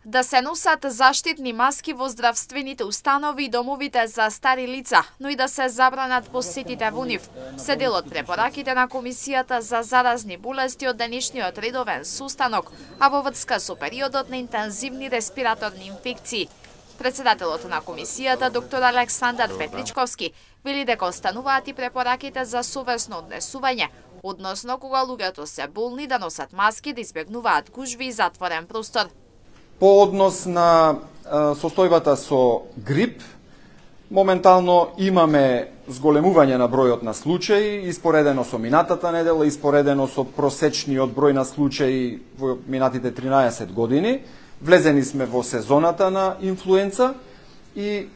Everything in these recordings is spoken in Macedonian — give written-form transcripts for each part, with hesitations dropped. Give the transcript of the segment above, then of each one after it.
Да се носат заштитни маски во здравствените установи и домовите за стари лица, но и да се забранат посетите во нив, се дел од препораките на Комисијата за заразни болести од денешниот редовен состанок, а во врска со периодот на интензивни респираторни инфекции. Председателот на Комисијата, доктор Александар Петличковски, вели дека остануваат и препораките за совесно однесување, односно кога луѓето се болни да носат маски, да избегнуваат гужви и затворен простор. По однос на состојбата со грип, моментално имаме зголемување на бројот на случаи, испоредено со минатата недела, испоредено со просечниот број на случаи во минатите 13 години. Влезени сме во сезоната на инфлуенца и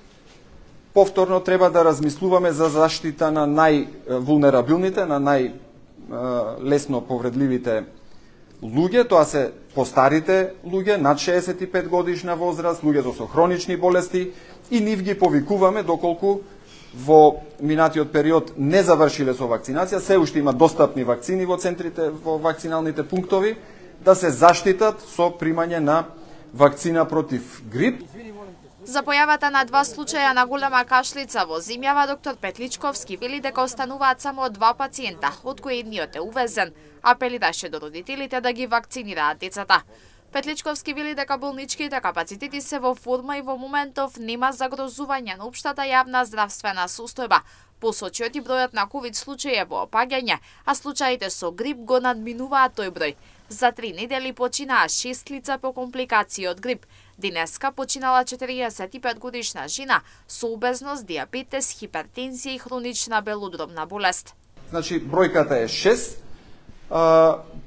повторно треба да размислуваме за заштита на највулнерабилните, на најлесно повредливите луѓе, тоа се постарите луѓе, над 65 годишна возраст, луѓето со хронични болести, и нив ги повикуваме доколку во минатиот период не завршиле со вакцинација, се уште има достапни вакцини во центрите, во вакциналните пунктови, да се заштитат со примање на вакцина против грип. За појавата на 2 случаја на голема кашлица во земјава, доктор Петличковски вели дека остануваат само 2 пациента, од кои едниот е увезен. Апелираше до родителите да ги вакцинираат децата. Петличковски вели дека болничките капацитети се во форма и во моментов нема загрозување на општата јавна здравствена состојба. Посочиот и бројот на ковид случаи е во опаѓање, а случаите со грип го надминуваат тој број. За 3 недели починаа 6 лица по компликации од грип. Денеска починала 45 годишна жена со обезност, диабетес, хипертензија и хронична белодробна болест. Значи, бројката е 6.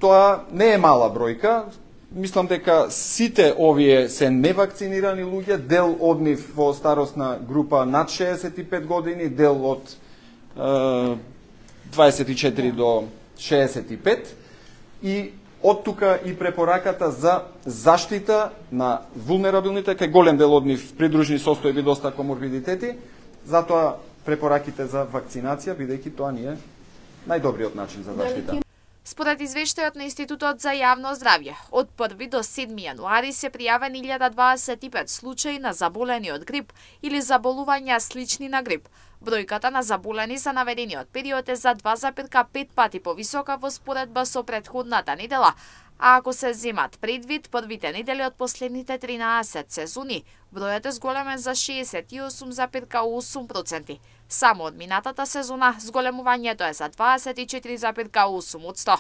Тоа не е мала бројка. Мислам дека сите овие се невакцинирани луѓе, дел од нив во старосна група над 65 години, дел од 24 до 65 и од тука и препораката за заштита на вулнерабилните, кај голем дел од нив придружни состојби, доста коморбидитети, затоа препораките за вакцинација, бидејќи тоа ни е најдобриот начин за заштита. Според извештајот на Институтот за јавно здравје, од 1 до 7 јануари се пријавени 1025 случаи на заболени од грип или заболувања слични на грип. Бројката на заболени за наведениот период е за 2,5 пати повисока во споредба со претходната недела, а ако се земат предвид првите недели од последните 13 сезони, бројот е зголемен за 68,8%. Само од минатата сезона зголемувањето е за 24,8%.